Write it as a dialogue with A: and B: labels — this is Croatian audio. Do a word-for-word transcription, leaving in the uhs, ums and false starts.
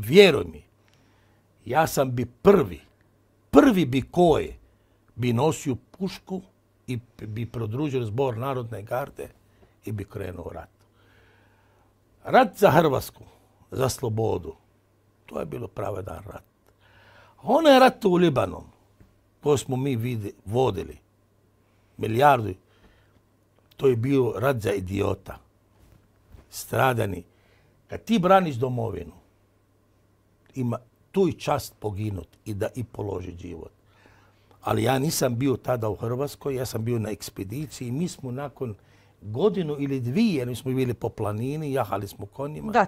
A: vjeruj mi, ja sam bi prvi, prvi bi koji bi nosio pušku i bi prodružio zbor Narodne garde i bi krenuo u rat. Rat za Hrvatsku, za slobodu, to je bilo pravedan rat. Onaj rat u Libanonu, koji smo mi vidi, vodili, milijardu, to je bio rat za idiota, stradani. Kad ti braniš domovinu, ima tu i čast poginut i da i položi život. Ali ja nisam bio tada u Hrvatskoj, ja sam bio na ekspediciji i mi smo nakon godinu ili dvije, mi smo bili po planini, jahali smo konjima.
B: Da,